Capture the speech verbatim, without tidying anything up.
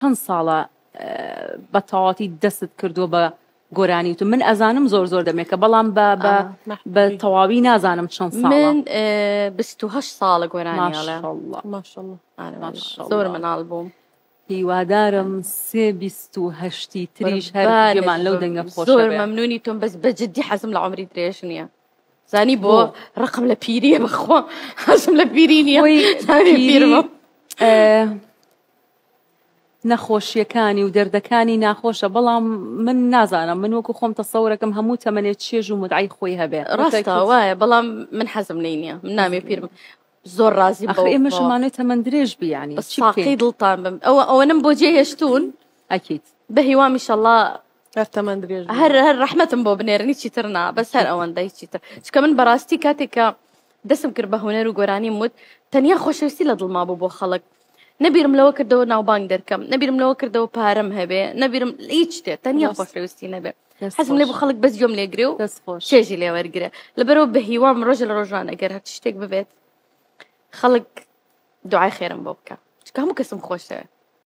چەند ساڵە بە تەواوەتی دەستت کردووە بە گۆرانی وتن؟ من ئەزانم زۆر زۆر دەمێکە، بەڵام بە بە بە تەواوی نازانم چەند ساڵە. من بیست و هەشت ساڵە گۆرانی ئەڵێم. ماشەڵڵا. ماشەڵڵا. ماشەڵڵا. زۆر مناڵ بووم. هیوادارم سێ بیست و هەشتی تریش هەر گوێمان لەو دەنگە خۆشە زۆر بێ. مەمنونی تۆم، بەس بە جدی حەزم لە عومری درێژ نییە. زانی بۆ؟ ڕقم لە پیریە، بەخوا حەزم لە پیری نییە. خۆی زانی پیری، پیرمە. نەخۆشیەکانی و دەردەکانی ناخۆشە، بەڵام من نازانم، من وەکو خۆم تەسەورەکەم هەموو تەمەنێ چێژ و مدعای خۆی هەبێ. ڕاستە وایە، بەڵام من حەزم لێی نییە، من نامێ پیرم. زۆر ڕازی ئەخر ئێمە شمانەی تەمەن درێژ بی، یعنی بەس ساقی دڵتان بم. ئەوە ئەوەنم بۆ جێ هێشتوون. ئەکید. بە هیوام ئینشەڵڵا هەر تەمەن درێژ بی. هەر هەر ڕەحمەتم بۆ بنێرن، هیچی تر نا، بەس هەر ئەوەندە، هیچی تر. چونکە من بەڕاستی کاتێک کە دەستم کرد بە هونەر و گۆرانیم وت، تەنیا خۆشەویستی لە دڵما بوو بۆ خەڵک. نەبیرم لەوە کردەوە ناوبانگ دەرکەم، نەبیرم لەوە کردەوە پارەم هەبێ، نەبیرم هیچ شتێ، تەنیا خۆشەویستی نەبێ. حەزم لێ بوو خەڵک بەس گوێم لێگرێ و چێژی لێوەرگرێ. لەبەرەوە بە هیوام ڕۆژە لە ڕۆژان ئەگەر هەر شتێک ببێت خەڵک دوعای خێرم بۆ بکە، چونکە هەموو کەسم خۆشەوێ.